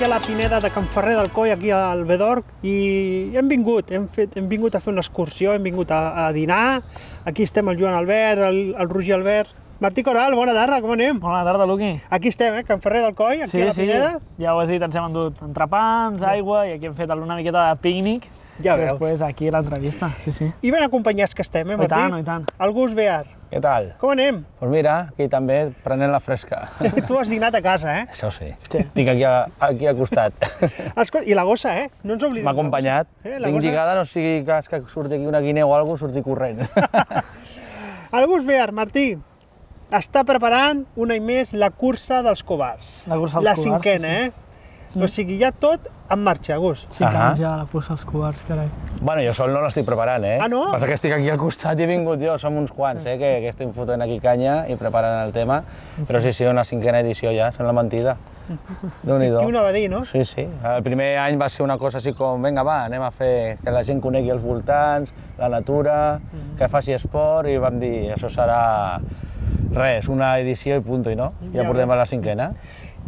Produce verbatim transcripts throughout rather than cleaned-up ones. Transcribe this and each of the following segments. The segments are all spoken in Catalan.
aquí a la Pineda de Can Ferrer del Coll, aquí al Bedorc, i hem vingut, hem, fet, hem vingut a fer una excursió, hem vingut a, a dinar. Aquí estem el Joan Albert, el, el Roger Albert. Martí Coral, bona tarda, com anem? Bona tarda, Luqui. Aquí estem, eh? Can Ferrer del Coll, aquí sí, a la Pineda. Sí, ja ho has dit, ens hem endut entrepans, aigua, i aquí hem fet una miqueta de pícnic. Ja i veus. Després aquí l'entrevista, sí, sí. I ben acompanyats que estem, eh, Martí? I tant, i tant. El Gus Bear. Què tal? Com anem? Doncs mira, aquí també prenent la fresca. Tu has dinat a casa, eh? Això sí. Sí. Estic aquí, a, aquí al costat. Escolta, i la gossa, eh? No ens oblidem. M'ha acompanyat. Eh, la Tinc gossa. lligada, no sigui cas que surti aquí una guineu o alguna cosa, surti corrent. El Gus Bear, Martí, està preparant un any més la cursa dels covards. La cursa dels La covards, cinquena, sí, eh? O sigui, ja tot en marxa, Gus. Cinc Ahà. anys ja la cursa dels covards, carai. Bueno, jo sol no l'estic preparant, eh? Ah, no? Passa que estic aquí al costat i he vingut jo, som uns quants, eh? Que, que estem fotent aquí canya i preparant el tema. Però sí, sí, una cinquena edició ja, sembla mentida. Déu-n'hi-do. Qui ho va dir, no? Sí, sí. El primer any va ser una cosa així com, vinga, va, anem a fer que la gent conegui els voltants, la natura, que faci esport, i vam dir, això serà res, una edició i punt, i no? Ja Ja portem veus. a la cinquena.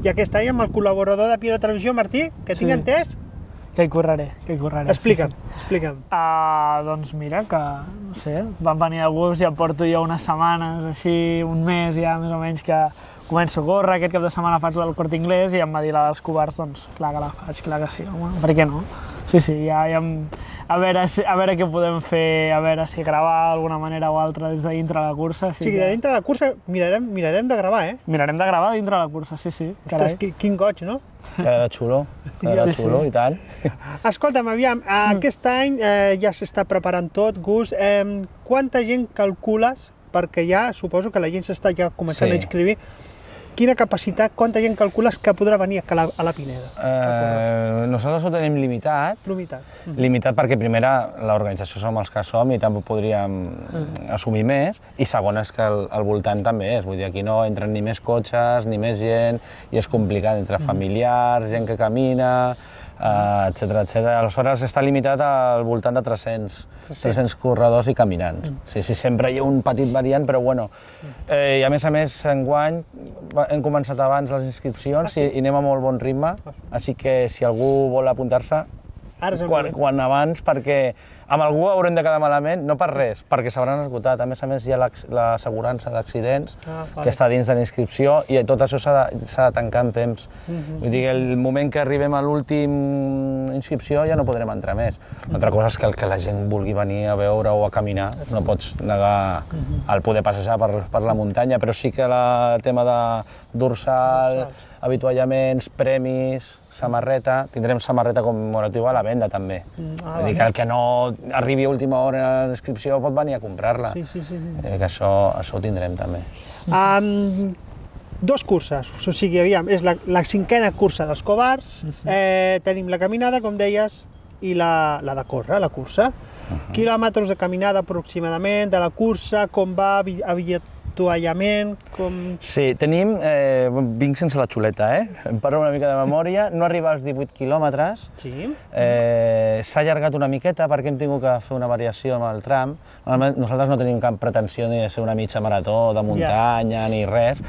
I aquest any amb el col·laborador de Piera Televisió, Martí, que tinc Sí. entès, Que hi correré, que hi correré. explica'm, Sí, sí. explica'm. Uh, doncs mira, que, no sé, van venir alguns, ja porto jo unes setmanes, així, un mes ja més o menys, que començo a córrer, aquest cap de setmana faig el Corte Inglés i em va dir la dels covards, doncs clar que la faig, clar que sí, home, per què no? Sí, sí, ja, ja em... a, veure, si- a veure què podem fer, a veure si gravar d'alguna manera o altra des de dintre de la cursa. O sigui, de dintre de la cursa mirarem, mirarem de gravar, eh? Mirarem de gravar dintre de la cursa, sí, sí, carai. Ostres, qui- quin goig, no? Quedarà xulo, quedarà Sí, sí. xulo, i tant. Escolta'm, aviam, aquest any eh, ja s'està preparant tot, Gus. Eh, quanta gent calcules, perquè ja suposo que la gent s'està ja començant Sí. a inscriure, quina capacitat, quanta gent calcules que podrà venir a la, a la Pineda? Eh, nosaltres ho tenim limitat, Limitat. limitat perquè primera l'organització som els que som i tampoc podríem assumir més, i segona és que el, el voltant també és, vull dir, aquí no entren ni més cotxes, ni més gent, i és complicat entre familiars, gent que camina, eh, etcètera, etcètera. Aleshores està limitat al voltant de tres-cents, tres-cents corredors i caminants. Sí, sí, sempre hi ha un petit variant, però bueno. Eh, I a més a més, enguany va- hem començat abans les inscripcions i, i anem a molt bon ritme, així que si algú vol apuntar-se, Ara és el quan, moment. quan abans, perquè amb algú haurem de quedar malament, no per res, perquè s'hauran esgotat. A més a més, hi ha l'ax- l'assegurança d'accidents, Ah, vale. que està dins de la inscripció, i tot això s'ha de, s'ha de tancar en temps. Vull dir que el moment que arribem a l'últim inscripció ja no podrem entrar més. Una altra cosa és que el que la gent vulgui venir a veure o a caminar, no pots negar el poder passejar per, per la muntanya, però sí que la- el tema de dorsal, avituallaments, premis, samarreta, tindrem samarreta commemorativa a la venda també. ah, Vull dir que el que no arribi a última hora a l'inscripció pot venir a comprar-la. Sí, sí, sí. sí. Eh, que això, això ho tindrem també. Um, dos curses, o sigui, aviam, és la, la cinquena cursa dels covards, eh, tenim la caminada, com deies, i la, la de córrer, la cursa. Quilòmetres de caminada aproximadament, de la cursa, com va, avi- avituallament, com... Sí, tenim, eh, vinc sense la xuleta, eh? Em parlo una mica de memòria, no arriba als divuit quilòmetres, Sí. eh, s'ha allargat una miqueta perquè hem tingut que fer una variació amb el tram. Normalment nosaltres no tenim cap pretensió ni de ser una mitja marató de muntanya ni res,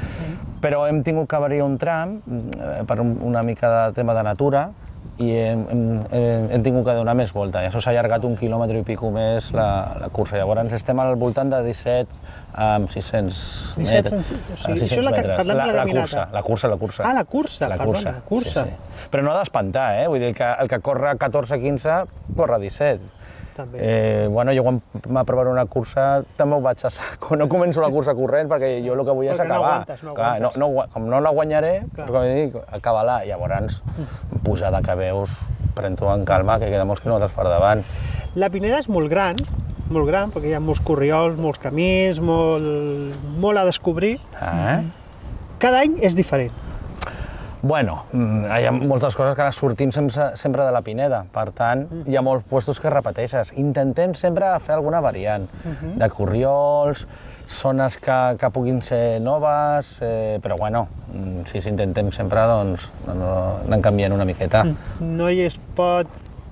però hem tingut que variar un tram eh, per un- una mica de tema de natura, i hem, hem, hem, hem tingut que donar més volta, i això s'ha allargat un quilòmetre i pico més la, la cursa. Llavors estem al voltant de disset amb sis-cents disset, metres. o sigui, amb això és la que- metres. parlem de la la, caminata. cursa, la cursa, la cursa. Ah, la cursa, la perdona, cursa. la cursa. Sí, sí. Però no ha d'espantar, eh? Vull dir, el que, el que corre catorze quinze, corre disset. També. Eh, bueno, jo quan m'aprovaré una cursa també ho vaig a saco. No començo la cursa corrent perquè jo el que vull és Perquè no acabar. aguantes, no Clar, no, aguantes. no, gua- com no la guanyaré, Clar. com dic, acabar-la. Llavors, pujada que veus, pren-t'ho en calma, que queda molts quilòmetres per davant. La Pineda és molt gran, molt gran, perquè hi ha molts corriols, molts camins, molt, molt a descobrir. Eh? Cada any és diferent. Bueno, mm, hi ha moltes coses que ara sortim sempre, sempre de la Pineda, per tant, hi ha molts puestos que repeteixes. Intentem sempre fer alguna variant, de corriols, zones que, que puguin ser noves, eh, però bueno, mm, si s'intentem sempre, doncs, no, anem canviant una miqueta. No hi es pot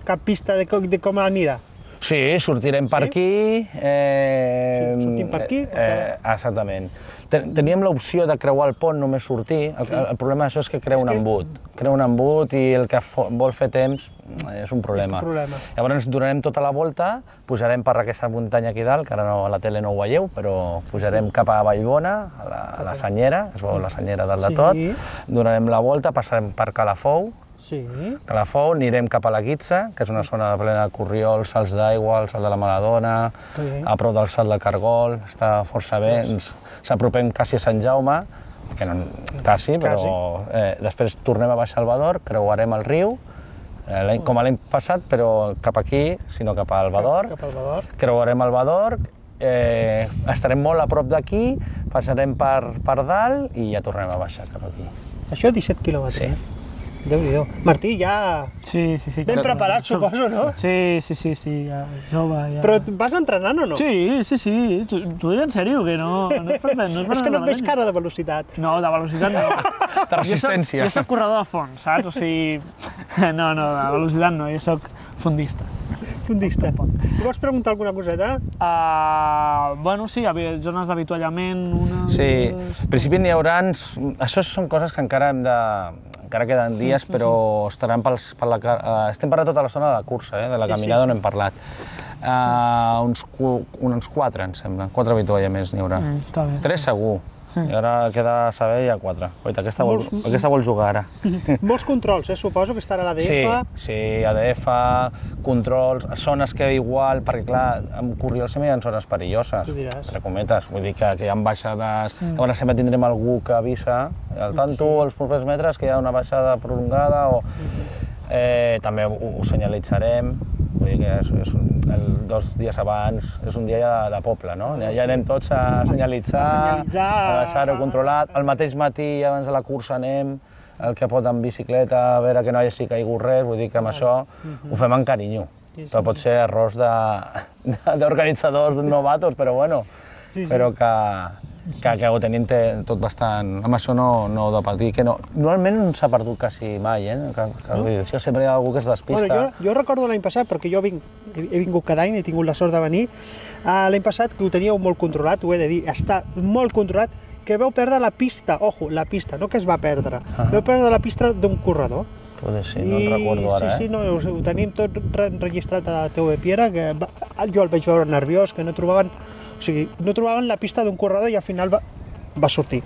cap pista de, com- de com anirà. Sí, sortirem per aquí. Eh, Sortim per aquí? Eh, exactament. Teníem l'opció de creuar el pont, només sortir. El, el problema d'això és que crea un embut. Crea un embut i el que vol fer temps és un problema. És un problema. Llavors donarem tota la volta, pujarem per aquesta muntanya aquí dalt, que ara no, a la tele no ho veieu, però pujarem cap a Vallbona, a la, a la Senyera, es veu la Senyera dalt de tot, donarem la volta, passarem per Calafou, Sí. Calafou, anirem cap a la Guitza, que és una zona plena de corriols, salts d'aigua, el salt de la Maladona, a prop del salt de Cargol, està força bé, ens s'apropem quasi a Sant Jaume, que no, quasi, però eh, després tornem a baixar al Bador, creuarem el riu, eh, com l'any passat, però cap aquí, sinó cap al Bador, Cap al Bador. creuarem el Bador, eh, estarem molt a prop d'aquí, passarem per, per dalt i ja tornem a baixar cap aquí. Això disset quilòmetres. Sí. Déu-n'hi-do. Martí, ja Sí, sí, sí. ben preparat, suposo, no? Sí, sí, sí, sí, ja, jove, ja. Però vas entrenant o no? Sí, sí, sí, t'ho dic en sèrio, que no, no és per no és per És que no et veig malament. cara de velocitat. No, de velocitat no. De resistència. Jo soc, jo soc corredor de fons, saps? O sigui, no, no, de velocitat no, jo soc fondista. Fondista. I vols preguntar alguna coseta? Uh, bueno, sí, hi havia zones d'avituallament, una... Sí, en principi n'hi haurà... Això són coses que encara hem de... encara queden dies, però estaran pels, per la, uh, estem per a tota la zona de la cursa, eh? De la caminada sí, sí. on hem parlat. Uh, uns, uns quatre, em sembla, quatre avituallaments n'hi haurà. Mm, està bé. Tres segur. I ara queda saber ja quatre. Oita, aquesta, vol, aquesta vol jugar ara. Molts controls, eh? Suposo que estarà a l'A D F. Sí, sí, A D F, controls, zones que igual, perquè clar, amb corriols sempre hi ha zones perilloses, entre cometes, vull dir que, que hi ha baixades, mm. llavors sempre tindrem algú que avisa, al tanto, sí. els propers metres, que hi ha una baixada prolongada, o eh, també ho, ho senyalitzarem, vull dir que és, és un, el, dos dies abans és un dia ja de, de poble, no? Ja, ja anem tots a senyalitzar, a, senyalitzar, a deixar-ho controlat. El mateix matí, abans de la cursa, anem el que pot amb bicicleta, a veure que no hagi caigut res, vull dir que amb això ho fem amb carinyo. Però pot ser errors d'organitzadors novatos, però bueno, però que, que, que ho tenim tot bastant... Amb això no, no ho de patir, que no... Normalment no s'ha perdut quasi mai, eh? Que, que, no? Això sempre hi ha algú que es despista. Bueno, jo, jo recordo l'any passat, perquè jo vinc, he, he vingut cada any, he tingut la sort de venir, uh, l'any passat que ho teníeu molt controlat, ho he de dir, està molt controlat, que veu perdre la pista, ojo, la pista, no que es va perdre, uh -huh. veu perdre la pista d'un corredor. Poder sí, no en recordo ara, sí, eh? Sí, no, ho, ho tenim tot registrat a T V Piera, que va, jo el vaig veure nerviós, que no trobaven, o sigui, no trobaven la pista d'un corredor i al final va, va sortir.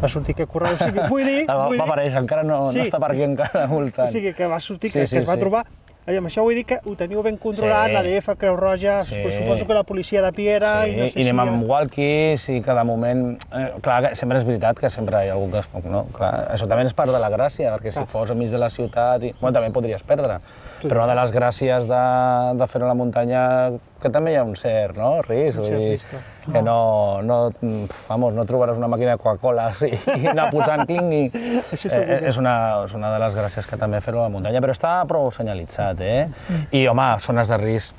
Va sortir aquest corredor, o sigui, vull dir... Va, vull va aparèixer, encara no, sí. no està per aquí encara voltant. O sigui, que va sortir, sí, que, sí, que es va sí. trobar. I amb això vull dir que ho teniu ben controlat, sí. l'A D F, Creu Roja, sí. suposo que la policia de Piera... Sí, i, no sé i anem si amb ha... walkies i cada moment... Eh, clar, sempre és veritat que sempre hi ha algú que es... No, clar, això també és part de la gràcia, perquè si fos enmig de la ciutat... I, bueno, també podries perdre, sí. però una de les gràcies de, de fer-ho a la muntanya que també hi ha un cert, no? Risc, vull dir, que no, no, vamos, no trobaràs una màquina de Coca-Cola i, i anar posant cling i... Eh, és, una, és una de les gràcies que també fer-ho a la muntanya, però està prou senyalitzat, eh? I, home, zones de risc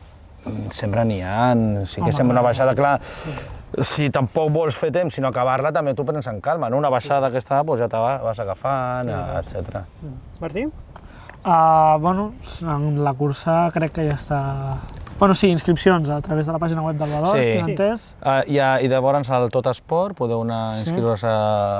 sempre n'hi ha, sí que sembla una baixada, clar, si tampoc vols fer temps, sinó acabar-la, també t'ho prens en calma, no? Una baixada que està, doncs ja te vas agafant, etcètera. Martí? Uh, bueno, en la cursa crec que ja està... Bueno, sí, inscripcions a través de la pàgina web del Bador, sí. tinc entès. Uh, i, a, I llavors al Tot Esport podeu anar a inscriure-us a...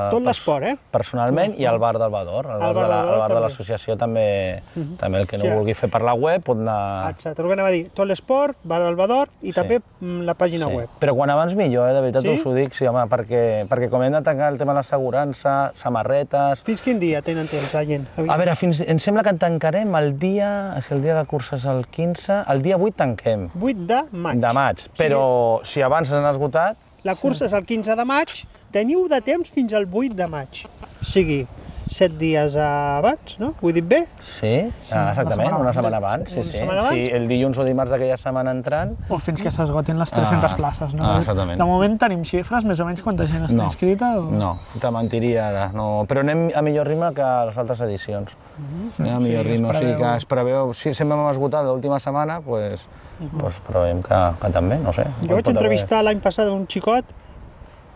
Tot l'esport, eh? Personalment, i al bar del Bador. Al bar, bar de la, al bar de l'associació també, uh -huh. també el que no sí. vulgui fer per la web pot anar... Exacte, el que anava a dir, Tot l'esport, bar del Bador i sí. també la pàgina sí. web. Però quan abans millor, eh? De veritat sí? us ho dic, sí, home, perquè, perquè com hem de tancar el tema de l'assegurança, samarretes... Fins quin dia tenen temps la gent? A veure, fins, em sembla que tancarem el dia, si el dia de cursa és el quinze, el dia vuit tanquem. vuit de maig. De maig, però sí. si abans s'han esgotat... La cursa sí. és el quinze de maig, teniu de temps fins al vuit de maig. O sigui, set dies abans, no? Ho he dit bé? Sí, exactament, una setmana abans, sí, sí. Abans? Sí, el dilluns o dimarts d'aquella setmana entrant... O fins que s'esgotin les tres-centes ah, places, no? Ah, exactament. De moment tenim xifres, més o menys quanta gent està no, inscrita? O... No, te mentiria ara, no. Però anem a millor ritme que les altres edicions. Uh-huh. Anem a millor sí, ritme, o sigui que es preveu... Si sempre hem esgotat l'última setmana, doncs uh-huh. pues preveiem que, que també, no sé. Jo vaig entrevistar l'any passat un xicot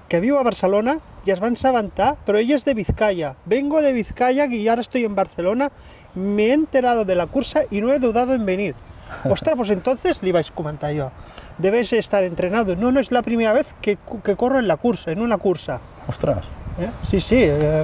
que viu a Barcelona y es va assabentar, pero ella es de Vizcaya. Vengo de Vizcaya y ahora estoy en Barcelona. Me he enterado de la cursa y no he dudado en venir. Ostras, pues entonces li vaig comentar jo, debes estar entrenado. No, no es la primera vez que, que corro en la cursa, en una cursa. Ostres. Eh? Sí, sí, eh,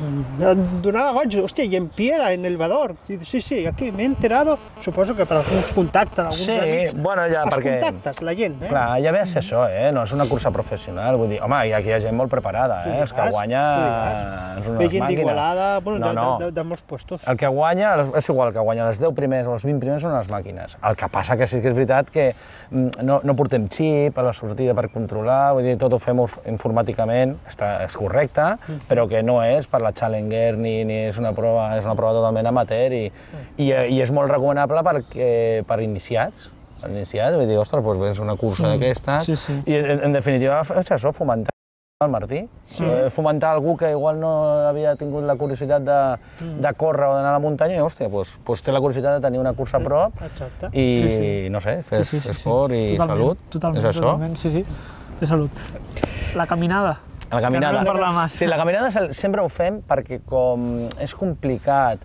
donava goig, hòstia, i en Piera, en el Bador, sí, sí, aquí m'he enterado, suposo que per alguns contactes, alguns Sí, amics, bueno, ja, els perquè... contactes, la gent, eh? Clar, ja ve a ser això, eh? No és una cursa professional, vull dir, home, i aquí hi ha gent molt preparada, eh? Els que diràs, guanya tu diràs. són Ve unes gent màquines. d'Igualada, bueno, No, de, no. de, de, de molts puestos. El que guanya, és igual, que guanya els deu primers o els vint primers són unes màquines. El que passa que sí que és veritat que mm, no, no portem xip a la sortida per controlar, vull dir, tot ho fem informàticament, està, és correcte, però que no és per la Challenger ni, ni és una prova, és una prova totalment amateur i, i, i és molt recomanable perquè, per iniciats, per iniciats, vull dir, ostres, doncs és una cursa d'aquestes, sí, sí. i en, en definitiva és això, fomentar el Martí, sí. eh, fomentar algú que igual no havia tingut la curiositat de, de córrer o d'anar a la muntanya i, hòstia, doncs, doncs té la curiositat de tenir una cursa a prop Exacte. i, Sí, sí. no sé, fer Sí, sí, sí, sí. esport i Totalment, salut, totalment, és això? Totalment, sí, sí, de salut. La caminada. La caminada. Que no hem parlat massa. Sí, la caminada sempre ho fem perquè com és complicat,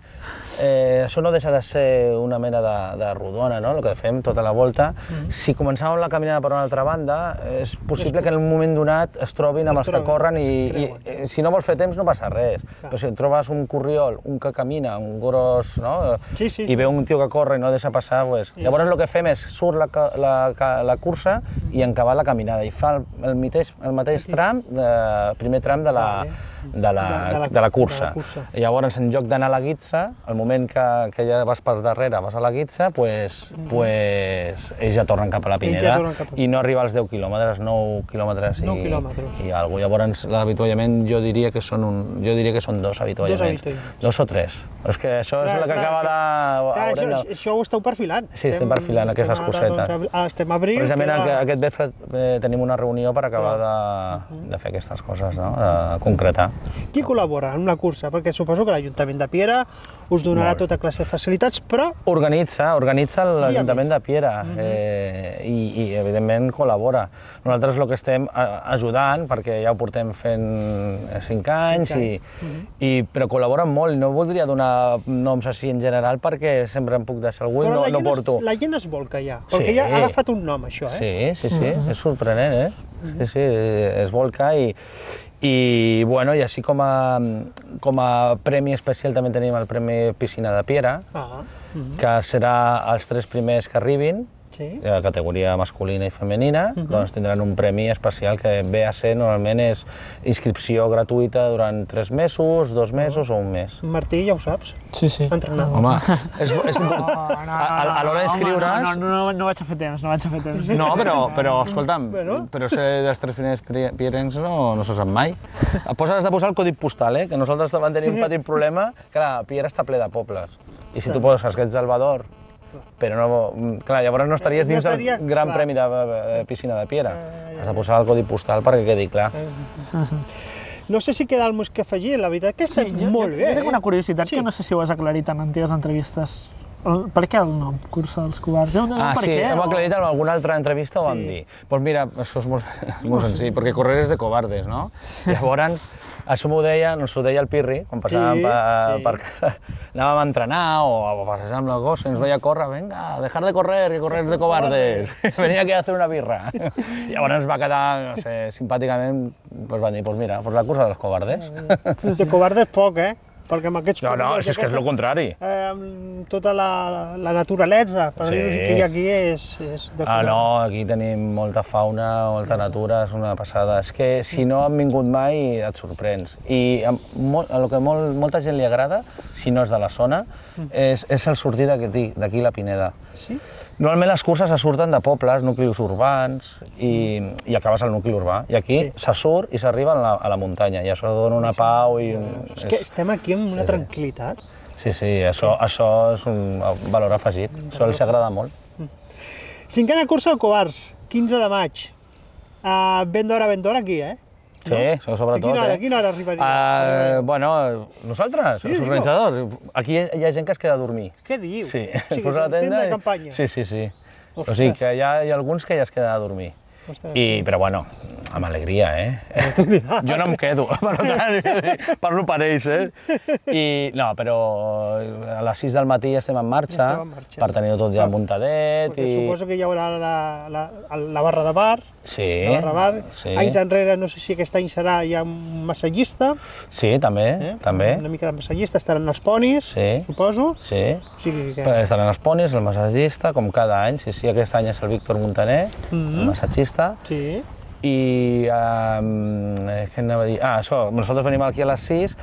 eh, això no deixa de ser una mena de, de rodona, no? El que fem tota la volta. Mm. Si començàvem la caminada per una altra banda, és possible que en un moment donat es trobin amb els que corren i, i, i si no vols fer temps no passa res. Clar. Però si et trobes un corriol, un que camina, un gros, no? Sí, sí, i veu un tio que corre i no el deixa passar, pues, sí. Llavors el que fem és surt la, la, la cursa i encabar la caminada i fa el, el, mateix, el mateix tram, de, primer tram de la, de la, de la, de la cursa. De la cursa. I llavors, en lloc d'anar a la guitza, al moment que, que ja vas per darrere, vas a la guitza, pues, mm. pues, ells ja tornen cap a la Pineda ja a... i no arriba als deu quilòmetres, nou quilòmetres i, i alguna cosa. Llavors, l'avituallament jo diria que són un, jo diria que són dos avituallaments. Dos, avituallaments. dos o tres. Però és que això clar, és el que clar, acaba de... Clar, això, de... això ho esteu perfilant. Sí, estem, estem perfilant estem aquestes cosetes. Doncs, estem a abril. Precisament que... aquest vespre eh, tenim una reunió per acabar de, de fer aquestes coses, no? De concretar. Qui col·labora en una cursa? Perquè suposo que l'Ajuntament de Piera us donarà tota classe de facilitats, però... Organitza, organitza l'Ajuntament de Piera uh -huh. eh, i, i, evidentment, col·labora. Nosaltres el que estem ajudant, perquè ja ho portem fent cinc anys, sí, i, uh -huh. i, però col·laboren molt. No voldria donar noms així en general perquè sempre em puc deixar algú i no, no porto... La gent es volca ja, perquè sí. ja ha agafat un nom, això, eh? Sí, sí, sí, uh -huh. és sorprenent, eh? Sí, sí, es volca i... I, bueno, i així com a, com a premi especial també tenim el Premi Piscina de Piera, ah, uh -huh. que serà els tres primers que arribin, sí. de categoria masculina i femenina, uh -huh. doncs tindran un premi especial que ve a ser, normalment, és inscripció gratuïta durant tres mesos, dos mesos o un mes. Martí, ja ho saps. Sí, sí. Entrenador. Home, és, és important. No, no, no, a, a l'hora d'inscriure's... No, no, no, no vaig a fer temps, no vaig a fer temps. No, però, però escolta'm, bueno. però ser dels tres primers pierencs no, no se sap mai. Has de posar el codi postal, eh? Que nosaltres vam tenir un petit problema. Clar, Piera està ple de pobles. I si tu poses que ets del Bador, però no... Clar, llavors no estaries dins del Gran Premi de Piscina de Piera. Has de posar el codi postal perquè quedi clar. No sé si queda alguna cosa que afegir, la veritat que està molt bé. Jo tinc una curiositat que no sé si ho has aclarit en antigues entrevistes. Per què el nom, Cursa dels Covards? Ah, sí, hem aclarit en alguna altra entrevista, ho vam dir. Doncs mira, això és molt, molt senzill, perquè correr és de covardes, no? Llavors, això m'ho deia, ens ho deia el Pirri, quan passàvem per casa, anàvem a entrenar o a passejar amb la gossa, ens veia córrer, venga, dejar de correr, que correr és de covardes, venia aquí a hacer una birra. Llavors ens va quedar, no sé, simpàticament, doncs van dir, doncs mira, doncs la cursa dels covardes. De covardes poc, eh? Perquè amb aquests... No, no, és que és el contrari. Amb tota la naturalesa, per dir-ho que aquí és de Ah, no, aquí tenim molta fauna, molta natura, és una passada. És que si no han vingut mai et sorprens. I el que molta gent li agrada, si no és de la zona, és el sortir d'aquí la Pineda. Sí? Normalment les curses se surten de pobles, nuclis urbans, i, i acabes al nucli urbà. I aquí sí. se surt i s'arriba a, a la muntanya, i això dona una pau i... És que estem aquí amb una tranquil·litat. Sí, sí, això, això és un valor afegit, això els agrada molt. Cinquena cursa al Covards, quinze de maig. Uh, ben d'hora, ben d'hora aquí, eh? Sí, no? Sobretot. A quina hora, eh? a quina hora arribaria? Uh, bueno, nosaltres, sí, els organitzadors, aquí hi ha gent que es queda a dormir. Què dius? Sí, sí es posa la tenda de campanya. Sí, sí, sí. Ostres. O sigui que hi ha, hi ha alguns que ja es queden a dormir. I, però bueno, Amb alegria, eh? Jo no em quedo, per tant, parlo per ells, eh? I, no, però a les sis del matí estem en marxa, Estem en marxa. per tenir-ho tot ja muntadet. Perquè I... suposo que hi haurà la, la, la barra de bar, Sí, la barra bar. sí. Anys enrere, no sé si aquest any serà ja un massatgista, Sí, també, eh? també. Una mica de massatgista, estaran els ponis, Sí. suposo. Sí. O sigui que... Però estaran els ponis, el massatgista, com cada any. Sí, sí, aquest any és el Víctor Montaner, el massatgista. Sí. I um, què anava a dir? Ah, això, nosaltres venim aquí a les sis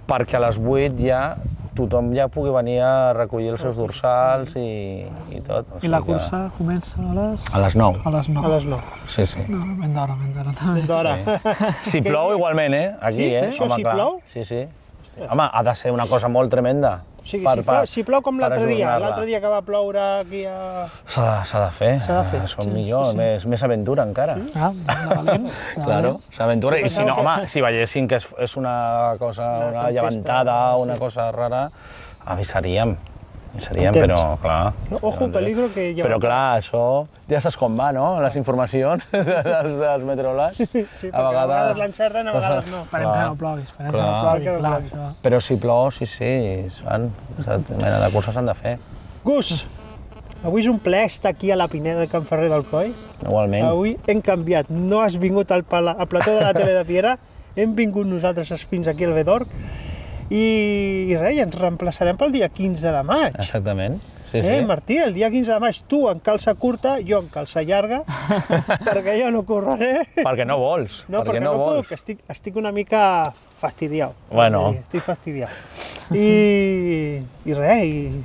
perquè a les vuit ja tothom ja pugui venir a recollir els seus dorsals i, i tot. O I la sigui que- cursa comença a les... A les nou. A les nou. A les nou. Sí, sí. No, ben d'hora, ben d'hora també. D'hora. Si plou igualment, eh? Aquí, Sí? eh? Això, si clar. plou? Sí, sí. Home, ha de ser una cosa molt tremenda. O sigui, si, fa, si plou com per l'altre dia, ajornar-la. l'altre dia que va ploure aquí a... S'ha de, s'ha de fer. S'ha de fer. Som millor, més, més aventura encara. Ah, de valent. de Claro, valent. s'aventura. I si no, Pensava home, si veiessin que és, és una cosa, una tempesta, llevantada, una sí. cosa rara, avisaríem. Avisaríem, Amb temps. però clar... Ojo, peligro que ja... Però clar, això ja saps com va, no? Les informacions dels, dels meteoròlegs. Sí, perquè a vegades l'encerten, a vegades no. Esperem que no plogui, esperem que Clar. no plogui, Que no clar, plogui. això. Però si plou, sí, sí, es fan. Aquesta mena de curses s'han de fer. Gus, avui és un plaer estar aquí a la Pineda de Can Ferrer del Coll. Igualment. Avui hem canviat, no has vingut al, pala, al plató de la tele de Piera, hem vingut nosaltres fins aquí al Bedorc i, i res, ens reemplaçarem pel dia quinze de maig. Exactament. Sí, Eh, sí. Martí, el dia quinze de maig, tu en calça curta, jo en calça llarga, perquè jo no correré. Perquè no vols. No, perquè, no, vols. puc, estic, estic una mica fastidiat. Bueno. Estic fastidiat. I, i res, i,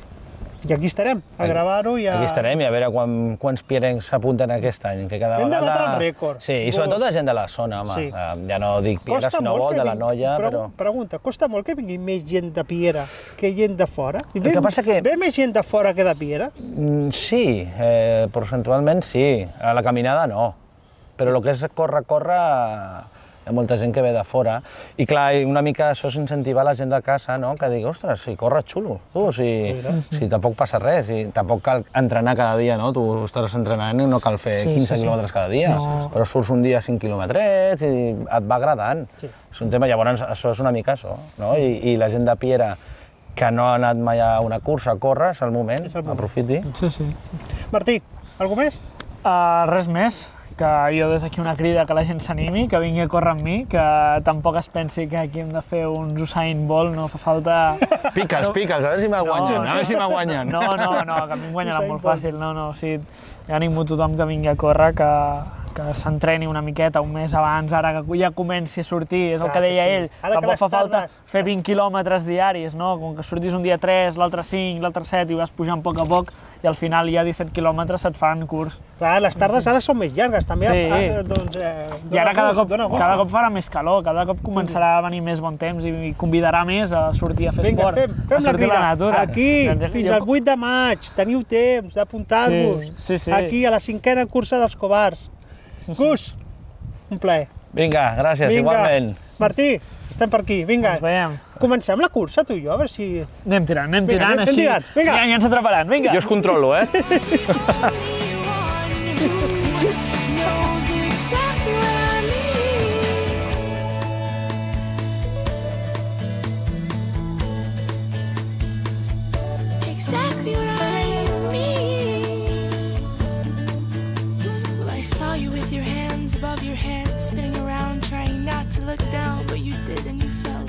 i aquí estarem, a Aquí- gravar-ho i a... Aquí estarem i a veure quan, quants pierencs s'apunten aquest any, que cada Hem de vegada... batre el rècord. Sí, i sobretot de gent de la zona, home. Sí. Eh, Ja no dic Piera, si no vol, que de la vingui- noia, Pregu- però... Pregunta, costa molt que vingui més gent de Piera que gent de fora? I El que passa que- Ve més gent de fora que de Piera? Mm, Sí, eh, percentualment sí. A la caminada no. Però el que és córrer, córrer, hi ha molta gent que ve de fora. I clar, i una mica això és incentivar la gent de casa, no? Que digui, ostres, si corres xulo, tu, si, si tampoc passa res, i tampoc cal entrenar cada dia, no? Tu estaràs entrenant i no cal fer Sí, quinze sí, sí. quilòmetres cada dia, No. però surts un dia cinc quilòmetres i et va agradant. Sí. És un tema, llavors això és una mica això, no? I, i la gent de Piera que no ha anat mai a una cursa a córrer, és el moment, És el moment. aprofiti. Sí, sí. Martí, algú més? Uh, res més, que jo des d'aquí una crida que la gent s'animi, que vingui a córrer amb mi, que tampoc es pensi que aquí hem de fer un Usain Bolt, no fa falta... Pica'ls, pica'ls, a veure si m'ha guanyat, a veure si m'ha guanyat. No, no, no, que a mi em guanyarà Usain molt Bolt. fàcil, no, no, o sigui, ja animo tothom que vingui a córrer, que, que s'entreni una miqueta un mes abans, ara que ja comenci a sortir, és el Clar que deia que sí. ell, Ara que tampoc les fa falta tardes- fer vint quilòmetres diaris, no? Com que sortis un dia tres, l'altre cinc, l'altre set i vas pujant a poc a poc i al final ja disset quilòmetres se't fan curs. Clar, les tardes ara són més llargues, també. Sí. Ah, doncs, eh, I ara dona cada gust, cop, dona gust. cada cop farà més calor, cada cop començarà a venir més bon temps i i convidarà més a sortir a fer Vinga, esport, fem, a fem la sortir a crida. la natura. Aquí, Doncs fins jo- al vuit de maig, teniu temps d'apuntar-vos. Sí, sí, sí. Aquí, a la cinquena cursa dels covards. Gus, un plaer. Vinga, gràcies, Vinga. igualment. Martí, estem per aquí, vinga. Ens veiem. Comencem la cursa, tu i jo, a veure si... Anem tirant, anem Vinga, tirant, anem així. tirant, vinga. Ja, ja ens atraparan, vinga. Jo us controlo, eh? Knows exactly what I need. Exactly what I need. Well, I saw you with your hands above your head, spinning around, trying not to look down, but you did and you fell